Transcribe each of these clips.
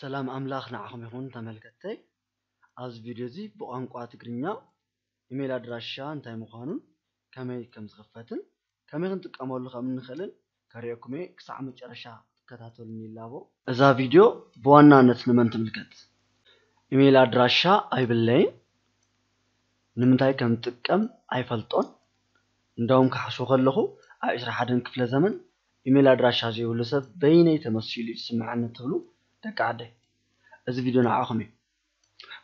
ሰላም ኣምላኽ ንዓኹም ይኹን ተመልከትተይ። ኣብዚ ቪድዮ እዚ ብቋንቋ ትግርኛ ኢሜይል ኣድራሻ እንታይ ምዃኑን ከመይ ከም ዝኽፈትን ከመይ ክንጥቀመሉ ከም እንኽእልን ከርእየኩም እየ። ክሳዕ መጨረሻ ክትከታተሉኒ ይላቦ። እዛ ቪድዮ ብዋናነት ንመን ትምልከት? ኢሜይል ኣድራሻ ኣይብለይን። ንምንታይ ከም ዝጥቀም ኣይፈልጦን። እንደውም ክሓስቦ ከለኹ ኣብ ዕስራ ሓደን ክፍለ ዘመን ኢሜይል ኣድራሻ ዘይብሉ ሰብ በይነይ ተመሲሉ እዩ ዝስምዓኒ ትብሉ ደቂ ዓደይ። እዚ ቪድዮ ንዓኹም እዩ።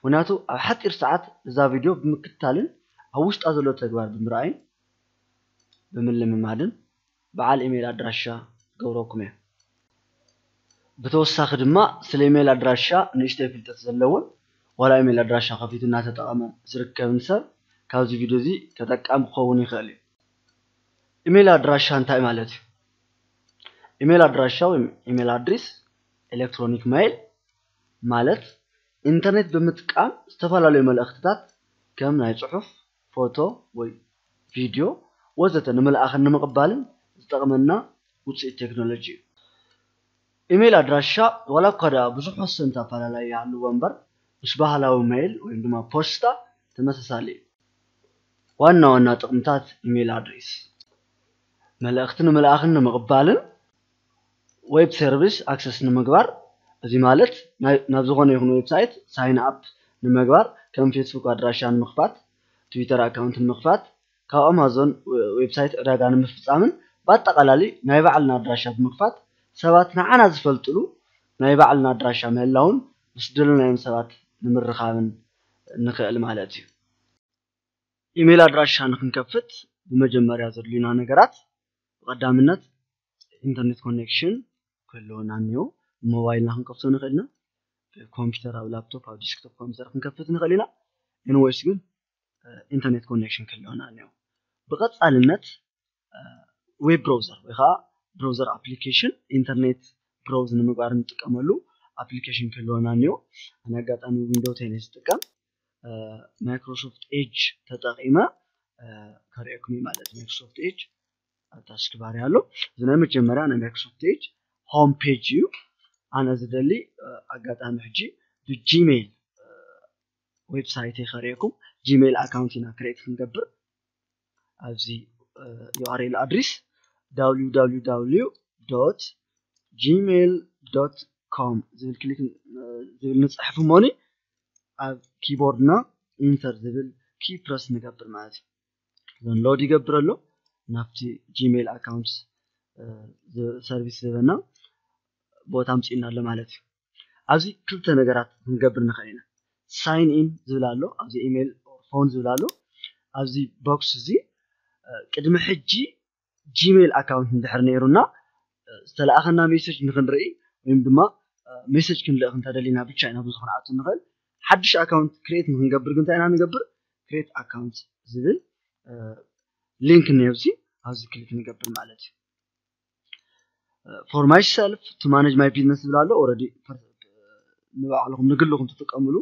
ምኽንያቱ ኣብ ሓፂር ሰዓት እዛ ቪድዮ ብምክትታልን ኣብ ውሽጣ ዘሎ ተግባር ብምርኣይን ብምልምማድን በዓል ኢሜይል ኣድራሻ ክገብረኩም እየ። ብተወሳኺ ድማ ስለ ኢሜይል ኣድራሻ ንእሽተይ ፍልጠት ዘለዎን ዋላ ኢሜይል ኣድራሻ ከፊቱ እናተጠቐመ ዝርከብን ሰብ ካብዚ ቪድዮ እዚ ተጠቃሚ ክኸውን ይኽእል እዩ። ኢሜይል ኣድራሻ እንታይ ማለት እዩ? ኢሜይል ኣድራሻ ወይ ኢሜይል ኣድሬስ ኤሌክትሮኒክ ሜይል ማለት ኢንተርኔት ብምጥቃም ዝተፈላለዩ መልእኽትታት ከም ናይ ጽሑፍ፣ ፎቶ ወይ ቪድዮ ወዘተ ንምልኣኽን ንምቕባልን ዝጠቕመና ውፅኢት ቴክኖሎጂ እዩ። ኢሜይል ኣድራሻ ዋላ እኳ ደኣ ብዙሕ ወሰንቲ ኣፈላላይ ይሃልዎ እምበር ምስ ባህላዊ ሜይል ወይ ድማ ፖስታ ተመሳሳሊ እዩ። ዋና ዋና ጥቕምታት ኢሜይል ኣድሬስ መልእኽቲ ንምልኣኽን ንምቕባልን ዌብ ሰርቪስ ኣክሰስ ንምግባር፣ እዚ ማለት ናይ- ናብ ዝኾነ ይኹን ዌብሳይት ሳይን ኣፕ ንምግባር ከም ፌስቡክ ኣድራሻ ንምኽፋት፣ ትዊተር ኣካውንት ንምኽፋት፣ ካብ ኣማዞን ዌብሳይት ዕዳጋ ንምፍፃምን ብኣጠቓላሊ ናይ ባዕልና ኣድራሻ ብምኽፋት ሰባት ንዓና ዝፈልጥሉ ናይ ባዕልና ኣድራሻ ምህላውን ምስ ደለናዮም ሰባት ንምርኻብን ንኽእል ማለት እዩ። ኢሜይል ኣድራሻ ንክንከፍት ብመጀመርያ ዘድልዩና ነገራት ብቐዳምነት ኢንተርኔት ኮኔክሽን ክህልወና እኒኦ። ብሞባይልና ክንከፍቶ ንኽእል ኢና። ኮምፒውተር ኣብ ላፕቶፕ ኣብ ዲስክቶፕ ኮምፒውተር ክንከፍት ንኽእል ኢና። ኤንወይስ ግን ኢንተርኔት ኮኔክሽን ክህልወና እኒኦ። ብቐፃልነት ዌብ ብራውዘር ወይ ከዓ ብራውዘር ኣፕሊኬሽን ኢንተርኔት ብራውዝ ንምግባር እንጥቀመሉ ኣፕሊኬሽን ክህልወና እኒኦ። ኣነ ኣጋጣሚ ዊንዶው ቴን እየ ዝጥቀም። ማይክሮሶፍት ኤጅ ተጠቂመ ከርእየኩም እዩ ማለት እዩ። ማይክሮሶፍት ኤጅ ኣብ ታስክ ባር ኣሎ። እዚ ናይ መጀመርያ ናይ ማይክሮሶፍት ኤጅ ሆም ፔጅ እዩ። ኣነ ዝደሊ ኣጋጣሚ ሕጂ ብጂሜይል ዌብሳይት ከርእየኩም። ጂሜይል ኣካውንት ኢና ክሬት ክንገብር ኣብዚ ዩኣርኤል ኣድሬስ www gmail com ዝብል ክሊክ ዝብል ንፅሕፍ እሞኒ ኣብ ኪቦርድና ኢንተር ዝብል ኪ ፕረስ ንገብር ማለት እዩ። ሎድ ይገብር ኣሎ። ናብቲ ጂሜይል ኣካውንት ሰርቪስ ዝህበና ቦታ ኣምፅእና ኣሎ ማለት እዩ። ኣብዚ ክልተ ነገራት ክንገብር ንኽእል ኢና። ሳይን ኢን ዝብል ኣሎ፣ ኣብዚ ኢሜይል ፎን ዝብል ኣሎ። ኣብዚ ቦክስ እዚ ቅድሚ ሕጂ ጂሜይል ኣካውንት እንድሕር ነይሩና ዝተለኣኸና ሜሴጅ ንክንርኢ ወይም ድማ ሜሴጅ ክንልእኽ እንተደሊና ብቻ ኢና ብዙ ክንኣቱ ንኽእል። ሓድሽ ኣካውንት ክሬት ንክንገብር ግን እንታይ ኢና ንገብር? ክሬት ኣካውንት ዝብል ሊንክ እኒኦ ኣብዚ ክሊክ ንገብር ማለት እዩ። For myself to manage my business ዝብል ኣሎ። ኦረዲ ንባዕልኹም ንግልኹም ትጥቀምሉ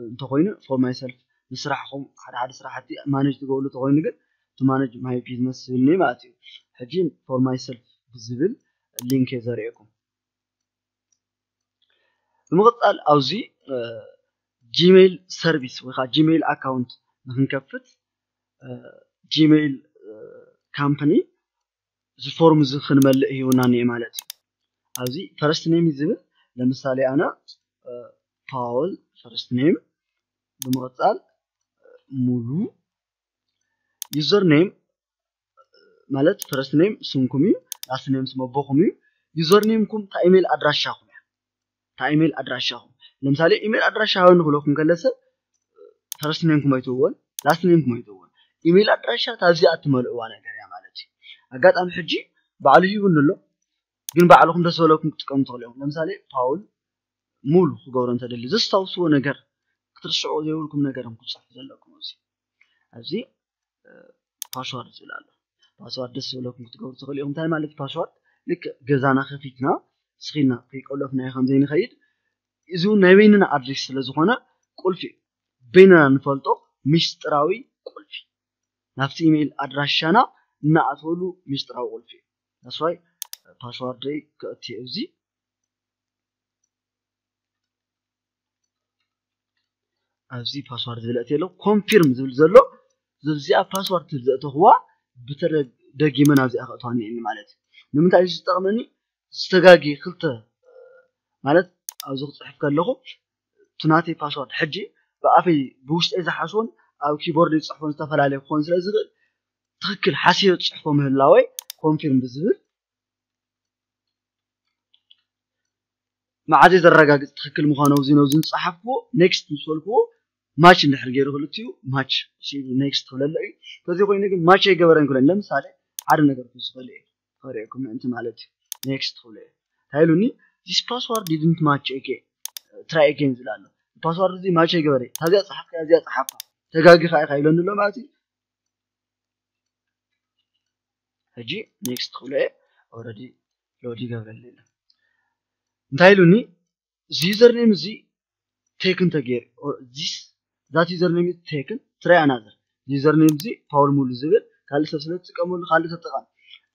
እንተኮይኑ for myself ንስራሕኹም ሓደ ሓደ ስራሕቲ ማኔጅ ትገብሉ እንተኮይኑ ግን to manage my business ዝብል እኒኦ ማለት እዩ። ሕጂ for myself ብዝብል ሊንክ እየ ዘርእየኩም። ብምቕፃል ኣብዚ ጂሜይል ሰርቪስ ወይ ከዓ ጂሜይል ኣካውንት ንክንከፍት ጂሜይል ካምፕኒ እዚ ፎርም እዚ ክንመልእ ሂቡና እኒኦ ማለት እዩ። ኣብዚ ፈረስት ኔም ዝብል ለምሳሌ ኣነ ፓውል ፈረስት ኔም ብምቕፃል ሙሉ ዩዘር ኔም ማለት ፈረስት ኔም ስምኩም እዩ፣ ላስት ኔም ስም ኣቦኹም እዩ። ዩዘር ኔምኩም እታ ኢሜይል ኣድራሻኹም እያ። እታ ኢሜይል ኣድራሻኹም ለምሳሌ ኢሜይል ኣድራሻ ሃበኒ ክብለኩም ከለሰ ፈረስት ኔምኩም ኣይትህብዎን ላስት ኔምኩም ኣይትህብዎን። ኢሜይል ኣድራሻ እታ ኣብዚኣ እትመልእዋ ነገር እያ ማለት እዩ። ኣጋጣሚ ሕጂ ባዕሉ ሂቡኒ ኣሎ፣ ግን ባዕልኹም ደስ በለኩም ክትጥቀሙ ትኽእሉ እዮም። ለምሳሌ ፓውል ሙሉ ክገብሮ እንተደሊ ዘስታውስዎ ነገር ክትርስዕዎ ዘይብልኩም ነገር እዮም ክትፅሕፉ ዘለኩም። ኣብዚ ኣብዚ ፓስዋርድ ዝብል ኣሎ። ፓስዋርድ ደስ ዝበለኩም ክትገብሩ ትኽእሉ ኢኹም። እንታይ ማለት ፓስዋርድ? ልክዕ ገዛና ከፊትና ስኺልና ከይቆለፍናዮ ከም ዘይንኸይድ እዚ እውን ናይ በይንና ኣድሬስ ስለ ዝኾነ ቁልፊ እዩ። በይንና ንፈልጦ ሚስጥራዊ ቁልፊ ናብቲ ኢሜይል ኣድራሻና እናኣተወሉ ሚስጥራዊ ቁልፊ እዩ። ዳስዋይ ፓስዋርደይ ክእቲ ኣብዚ ኣብዚ ፓስዋርድ ዝብል ኣትየ ኣሎ። ኮንፊርም ዝብል ዘሎ፣ እዚኣ ፓስዋርድ ትብል ዘእተኽዋ ብተደጊመ ናብዚኣ ከእትዋ እኒኤኒ ማለት እዩ። ንምንታይ እዩ ዝጠቕመኒ? ዝተጋጊ ክልተ ማለት ኣብዚ ክፅሕፍ ከለኹ እቲ ናተይ ፓስዋርድ ሕጂ ብኣፈይ ብውሽጠይ ዝሓስቦን ኣብ ኪቦርድ ዝፅሕፎን ዝተፈላለየ ክኾን ስለ ዝኽእል ትኽክል ሓሲበ ዝፅሕፎ ምህላወይ ኮንፊርም ብዝብል መዓዘ ዘረጋግፅ ትኽክል ምዃኑ ኣብዚ ነብዚ ዝፀሓፍኩዎ ኔክስት ምስ በልኩዎ ማች እንድሕር ገይሩ ክልቲኡ ማች ኔክስት ክብለለ እዩ። ከዚ ኮይኑ ግን ማች ኣይገበረን ክብለኒ ለምሳሌ ሓደ ነገር ክውስኸሉ እዩ። ከርእየኩም ምእንቲ ማለት እዩ። ኔክስት ክብሎ እዩ። እንታይ ኢሉኒ? This password didn't match again, try again ዝብል ኣሎ። ፓስዋርድ እዚ ማች ኣይገበረ። ታዚኣ ጸሓፍካ እዚኣ ጸሓፍካ ተጋጊኻ ኢኻ ኢሎኒ ኣሎ ማለት እዩ። ሕጂ ኔክስት ክብሎ እየ። ኦልሬዲ ሎድ ይገብረልኒ ኣሎ። እንታይ ኢሉኒ? እዚ ዩዘር ኔም እዚ ቴክን ተገይሩ ዚስ ዛት ዩዘር ኔም ቴክን ትራይ ኣናዘር ዩዘር ኔም እዚ ፓውል ሙሉ ዝብል ካልእ ሰብ ስለ ትጥቀመሉ ካልእ ተጠቐም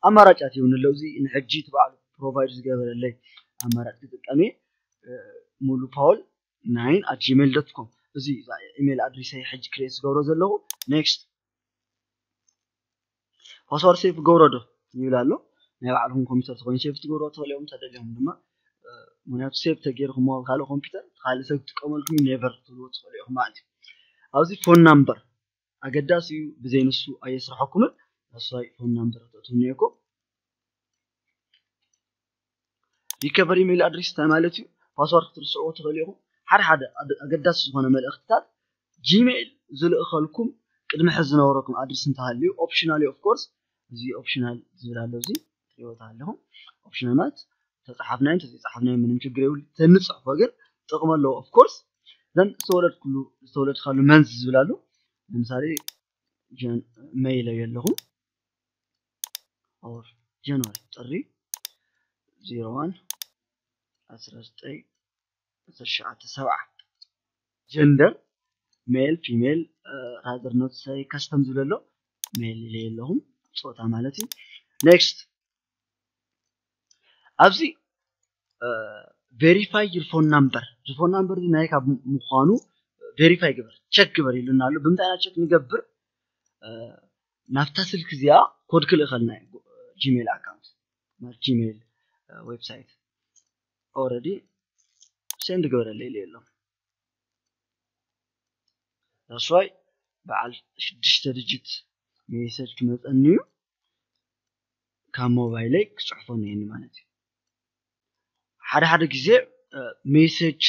ኣማራጫት ይውን ኣለዉ። እዚ ንሕጂ እቲ በዓሉ ፕሮቫይድ ዝገበረለይ ኣማራጭ ክጥቀም እየ። ሙሉ ፓውል ናይን ኣት ጂሜል ዶት ኮም እዚ ኢሜል ኣድሬሰይ ሕጂ ክሬት ዝገብሮ ዘለኹ። ኔክስት ፓስዋርድ ሴፍ ገብሮ ዶ ይብል ኣሎ። ናይ ባዕልኩም ኮምፒውተር ተኮይኑ ሴፍ ትገብሮ ትኽእሉ እዮም። ተደልዮም ድማ ምክንያቱ ሴፍ ተገይርኩሞ ኣብ ካልእ ኮምፒውተር ካልእ ሰብ ክጥቀመልኩም ኔቨር ክትብልዎ ትኽእሉ ኢኹም ማለት እዩ። ኣብዚ ፎን ናምበር ኣገዳሲ እዩ። ብዘይ ንሱ ኣየስርሐኩምን። ንሳይ ፎን ናምበር ተእትውኒ እኮ ሪከቨሪ ኢሜል ኣድሬስ እንታይ ማለት እዩ? ፓስዋርድ ክትርስዕዎ ትኽእሉ ኢኹም። ሓደ ሓደ ኣገዳሲ ዝኾነ መልእኽትታት ጂሜል ዝልእኸልኩም ቅድሚ ሕዚ ዝነበረኩም ኣድሬስ እንተሃልዩ ኦፕሽናል እዩ። ኦፍኮርስ እዚ ኦፕሽናል ዝብል ኣሎ እዚ ትሪእዎ ኣለኹም። ኦፕሽናል ማለት ተፃሓፍናዮ እንተዘይፃሓፍናዮ ምንም ችግር የብሉ። ተንፅሕፎ ግን ጥቕሚ ኣለዎ። ኦፍኮርስ ዘን ዝተወለድኩሉ ዝተወለድካሉ መንዝ ዝብል ኣሎ። ለምሳሌ ሜይ ኢለዮ ኣለኹም ኦር ጃንዋሪ ጥሪ ዜሮ ዋን ዓሰርተ ዘጠኝ ዓሰርተ ትሽዓተ ሰብዓ ጀንደር ሜል ፊሜል ራዘር ኖት ሳይ ካስተም ዝብል ኣሎ ሜል ኢለ ኣለኹም ፆታ ማለት እዩ። ኔክስት ኣብዚ ቬሪፋይ ዩር ፎን ናምበር እዚ ፎን ናምበር እዚ ናይ ካብ ምኳኑ ቬሪፋይ ግበር ቸክ ግበር ይሉና ኣሎ። ብምንታይ ኢና ቸክ ንገብር? ናብታ ስልክ እዚኣ ኮድ ክልእኸልና እዩ ጂሜል ኣካውንት ማለት ጂሜል ዌብሳይት ኦረዲ ሴንድ ግበረለይ ኢለ ኣሎ። ዳስዋይ በዓል ሽዱሽተ ድጅት ሜሴጅ ክመፀኒ እዩ ካብ ሞባይለይ ክፅሕፎ ነየኒ ማለት እዩ። ሓደ ሓደ ግዜ ሜሴጅ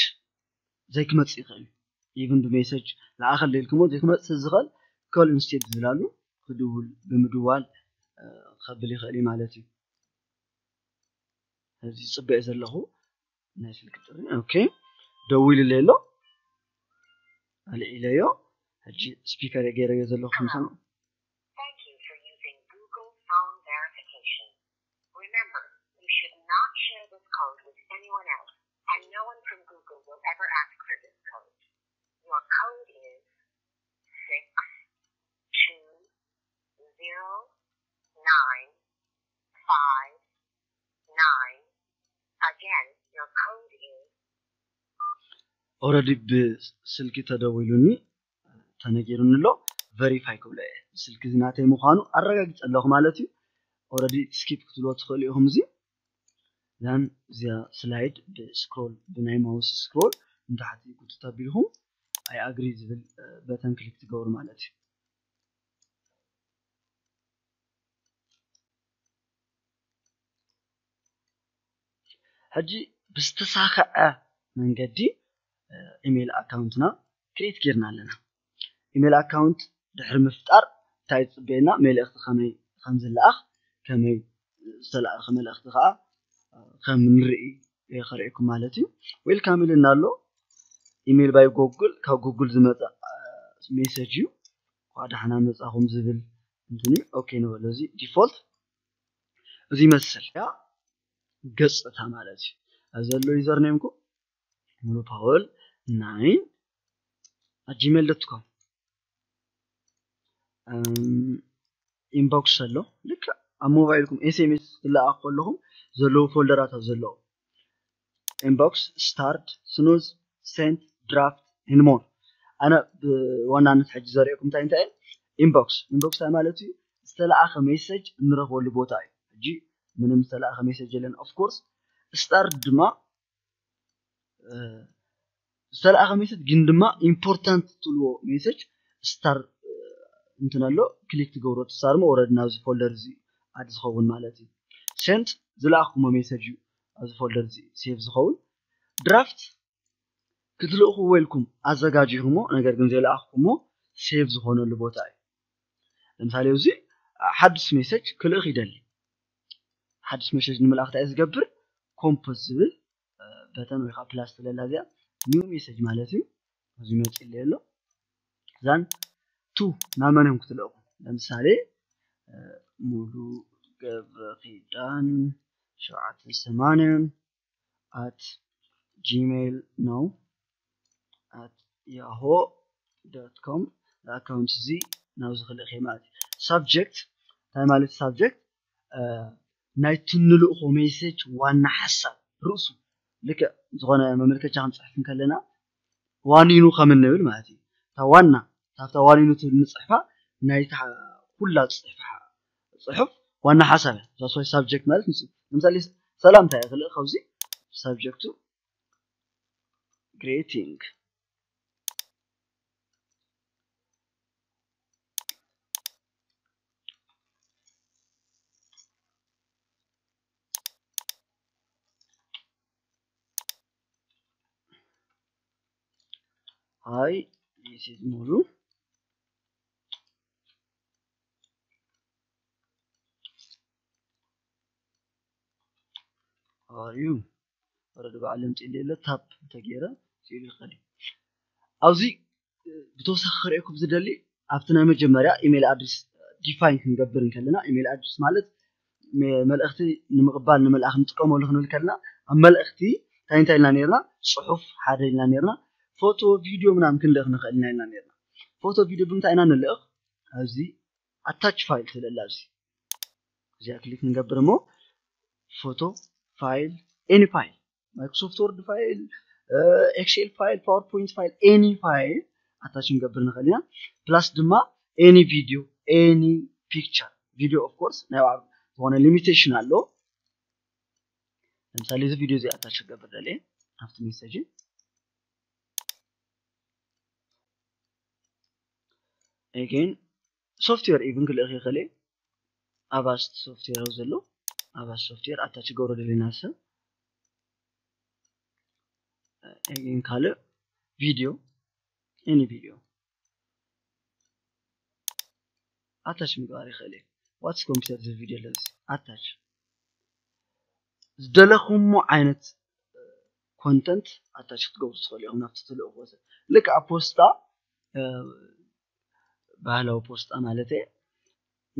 ዘይክመፅእ ይኽእል እዩ። ኢቭን ብሜሴጅ ለኣኸል ኢልክሞ ዘይክመፅእ ዝኽእል ኮል ኢንስቴድ ዝብል ኣሎ ክድውል ብምድዋል ከብል ይኽእል እዩ ማለት እዩ። እዚ ፅበየ ዘለኹ ናይ ስልኪ ጥሪ ኦኬ ደዊሉለይ ኣሎ ኣልዒለዮ ሕጂ ስፒከር ገይረዮ ዘለኹ ከም ሰምዑ Thank you for using Google Phone Verification. Remember, you should not share this code with anyone else, and no one from Google will ever ask for this code. Your code is six two zero nine five nine. Again, your code is ኦረዲ ብስልኪ ተደዊሉኒ ተነጊሩኒ ኣሎ ቨሪፋይ ክብሎ እየ ስልኪ እዚ ናተይ ምዃኑ ኣረጋግፀ ኣለኹ ማለት እዩ። ኦረዲ ስኪፕ ክትብልዎ ትኽእሉ ኢኹም እዚ ዛን እዚኣ ስላይድ ብስክሮል ብናይ ማውስ ስክሮል ንታሕቲ ጉትት ኣቢልኩም ኣይ ኣግሪ ዝብል በተን ክሊክ ትገብሩ ማለት እዩ። ሕጂ ብዝተሳኸዐ መንገዲ ኢሜይል ኣካውንትና ክሬት ጌርና ኣለና። ኢሜይል ኣካውንት ድሕሪ ምፍጣር እንታይ ዝፅበየና፣ መልእኽቲ ከመይ ከም ዝለኣኽ፣ ከመይ ዝተለኣኸ መልእኽቲ ከዓ ከም ንርኢ ከርእየኩም ማለት እዩ። ዌልካም ኢልና ኣሎ። ኢሜይል ባይ ጎግል፣ ካብ ጎግል ዝመፀ ሜሴጅ እዩ። እንኳዕ ደሓና መፃኹም ዝብል እንትን እዩ። ኦኬ ንበሎ። እዚ ዲፎልት እዚ ይመስል ያ ገፅታ ማለት እዩ። ኣብዚ ዘሎ ዩዘር ኔምኩም ሙሉ ፓወል ናይን ኣት ጂሜል ዶት ኮም ኢንቦክስ ኣሎ። ልክዕ ኣብ ሞባይልኩም ኤስኤምኤስ ትለኣኽ ከለኹም ዘለዉ ፎልደራት ኣብ ዘለዉ ኢንቦክስ፣ ስታርድ፣ ስኑዝ፣ ሴንት፣ ድራፍት ኤንድ ሞር። ኣነ ብዋናነት ሕጂ ዘርእየኩም እንታይ እንታይ inbox inbox እንታይ ማለት እዩ? ዝተለኣኸ message እንረኽበሉ ቦታ እዩ። ሕጂ ምንም ዝተለኣኸ message የለን። Of course star ድማ ዝተለኣኸ message ግን ድማ important ትብልዎ message star እንትን ኣሎ። ክሊክ ትገብሮ እቲ star ሞ ወረድ ናብዚ folder እዚ add ዝኸውን ማለት እዩ። Sent ዝለኣኽኩሞ message እዩ ኣብዚ folder እዚ save ዝኸውን። Draft ክትልእኽዎ ኢልኩም ኣዘጋጂኹሞ ነገር ግን ዘይለኣኽኩሞ save ዝኾነሉ ቦታ እዩ። ለምሳሌ እዚ ሓድሽ message ክልእኽ ይደሊ። ሓድሽ message ንምልኣኽ እንታይ ዝገብር? Compose ዝብል button ወይ ከዓ plus ትለላ እዚኣ new message ማለት እዩ። እዚ መፅእ ኣሎ። እዛን to ናብ መን እዮም ክትልእኹ? ለምሳሌ ሙሉ ገብረ ኪዳን ሸውዓተ ሰማንያ at gmail no at yahoo dot com ኣካውንት እዚ ናብዚ ክልእኽ እየ ማለት እዩ። Subject እንታይ ማለት subject? ናይቲ ንልእኾ message ዋና ሓሳብ ርእሱ ልክዕ ዝኾነ መመልከቻ ክንፅሕፍ እንከለና ዋኒኑ ከም እንብል ማለት እዩ። እታ ዋና ካብታ ዋኒኑ ትብል ንፅሕፋ ናይታ ኩላ ፅሕፋ ፅሑፍ ዋና ሓሳብ እያ። That's why subject ማለት ንሱ ለምሳሌ ሰላምታ እየ ክልእ ካብዚ subject ኡ greeting hi this is ሙሉ how are you ወረዲ በዓል ለምፂ ሌለ tap እንተገይረ ስኢሉ ይኸዲ ኣብዚ ብተወሳኺ ክርእየኩም ዝደሊ ኣብቲ ናይ መጀመርያ ኢሜል ኣድሬስ define ክንገብር እንከለና ኢሜል ኣድሬስ ማለት መልእኽቲ ንምቕባል ንምልኣኽ ንጥቀመሉ ክንብል ከለና ኣብ መልእኽቲ እንታይ እንታይ ኢልና ነርና? ፅሑፍ ሓደ ኢልና ነርና። ፎቶ ቪድዮ ምናምን ክንልእኽ ንኽእል ኢና ኢልና ነርና። ፎቶ ቪድዮ ብምንታይ ኢና ንልእኽ? ኣብዚ attach file ትለላ ኣብዚ እዚኣ ክሊክ ንገብር እሞ ፎቶ file any file Microsoft Word file Excel file PowerPoint file any file attach ክንገብር ንኽእል ኢና። Plus ድማ any video any picture video of course ናይ ባዕሉ ዝኾነ limitation ኣሎ። ለምሳሌ እዚ ቪድዮ እዚ attach ክገብር ደልየ ኣብቲ message again software even ክልእኽ ይኽእል እየ። Avast software ዘሎ Avast software attach ክገብሮ ደልየ ናብ ሰብ again ካልእ video any video attach ምግባር ይኽእል እየ። What's computer እዚ ቪድዮ ኣለዚ attach ዝደለኹሞ ዓይነት content attach ክትገብሩ ትኽእሉ ኢኹም ናብቲ ትልእኽዎ ሰብ ልክዕ ኣብ ፖስታ ባህላዊ ፖስታ ማለት እየ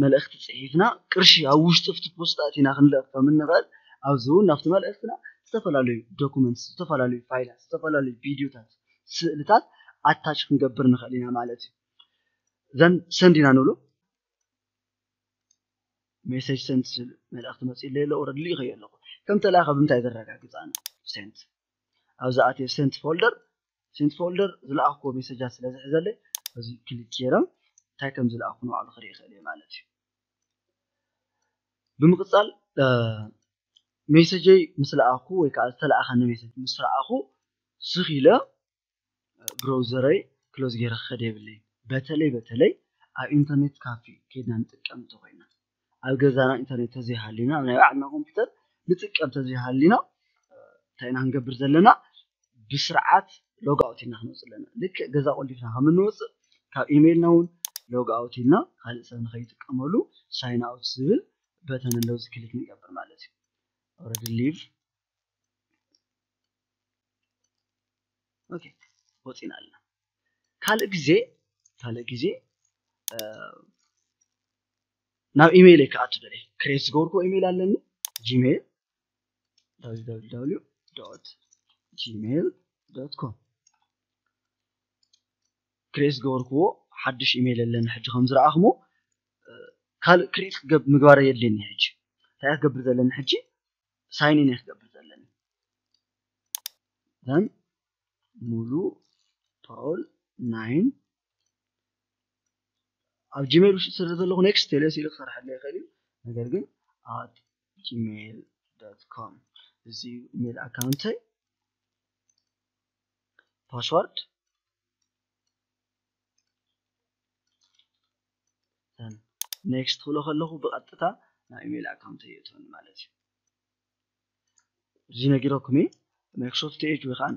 መልእኽቲ ፅሒፍና ቅርሺ ኣብ ውሽጢ ኣብቲ ፖስታ ኣቲና ክንልእኽ ከም እንኽእል ኣብዚ እውን ናብቲ መልእኽትና ዝተፈላለዩ documents ዝተፈላለዩ ፋይላት ዝተፈላለዩ ቪድዮታት ስእልታት attach ክንገብር ንኽእል ኢና ማለት እዩ ዘን send ኢና ንብሎ message sent ዝብል መልእኽቲ መፂኡ ኣሎ ኣሎ already ልኢኸዮ ኣለኹ ከም ተላእኸ ብምንታይ ዘረጋግፅ ኣነ sent ኣብዚ ኣትየ sent folder sent folder ዝለኣኽዎ message ኣት ስለ ዝሕዘለይ እዚ click ገይረ እንታይ ከም ዝለኣኽኩ ንባዕሉ ክርኢ ይኽእል እየ ማለት እዩ ብምቕፃል message ይ ምስ ለኣኽኩ ወይ ከዓ ዝተለኣኸኒ message ምስ ረኣኹ ስኽ ኢለ browser ይ close ገይረ ክኸድ የብለይን በተለይ በተለይ ኣብ internet cafe ከይድና ንጥቀም እንተኾይና ኣብ ገዛና internet ተዘይሃልዩና ኣብ ናይ ባዕልና computer ንጥቀም ተዘይሃልዩና እንታይ ኢና ክንገብር ዘለና ብስርዓት log out ኢልና ክንወፅእ ኣለና ልክዕ ገዛ ቆሊፍና ከም እንወፅእ ካብ email ና እውን log out ኢልና ካልእ ሰብ ንኸይጥቀመሉ sign out ዝብል button ኣለዎ እዚ click ንገብር ማለት እዩ already leave okay ወፂና ኣለና ካልእ ግዜ ካልእ ግዜ ናብ email ይ ክኣቱ ደለ create ዝገበርኩዎ email ኣለኒ gmail www gmail com create ዝገበርኩዎ ሓድሽ email ኣለኒ ሕጂ ከም ዝረኣኽሞ ካልእ create ምግባር የድልየኒ ሕጂ እንታይ ክገብር ዘለኒ ሕጂ sign in ክገብር ዘለኒ then ሙሉ ፓውል ናይን ኣብ ጂሜል ውሽጢ ስለ ዘለኹ ኔክስት ቴሌስ ኢሉ ክሰርሐለ ይኽእል እዩ። ነገር ግን at gmail com እዚ ኢሜል ኣካውንተይ ፓስዋርድ ኔክስት ክብሎ ከለኹ ብቐጥታ ናብ ኢሜል ኣካውንተይ የእትወኒ ማለት እዩ። እዚ ነጊረኩም ማይክሮሶፍት ኤጅ ወይ ከዓ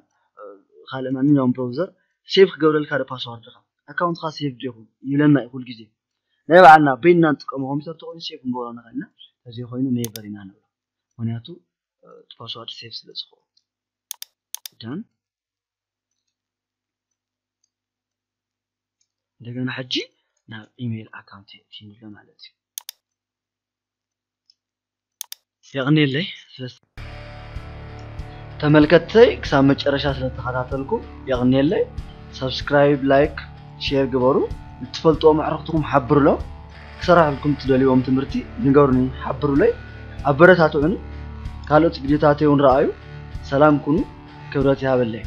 ካልእ ማንኛውም ብራውዘር ሴፍ ክገብረልካ ዶ ፓስዋርድካ ኣካውንትካ ሴፍ ዶ ይኹን ይብለና እዩ ኩሉ ግዜ። ናይ ባዕልና በይንና ንጥቀሞ ኮምፒውተር ተኮይኑ ሴፍ ንገብሮ ንኽእልና፣ ተዘይኮይኑ ኔቨር ኢና ንብሎ። ምክንያቱ እቲ ፓስዋርድ ሴፍ ስለ ዝኸውን። ደን እንደገና ሕጂ ናብ ኢሜይል ኣካውንት የእትየኒ ኣሎ ማለት እዩ። የቕንየለይ ስለ ተመልከትተይ ክሳብ መጨረሻ ስለተኸታተልኩም የቕንየለይ። ሳብስክራይብ፣ ላይክ፣ ሼር ግበሩ። እትፈልጥዎም ኣዕሩኽትኩም ሓብሩሎም። ክሰራሕልኩም ትደልይዎም ትምህርቲ ንገሩኒ፣ ሓብሩለይ፣ ኣበረታትዑኒ። ካልኦት ቪድዮታተይ እውን ረኣዩ። ሰላም ኩኑ፣ ክብረት ይሃበለይ።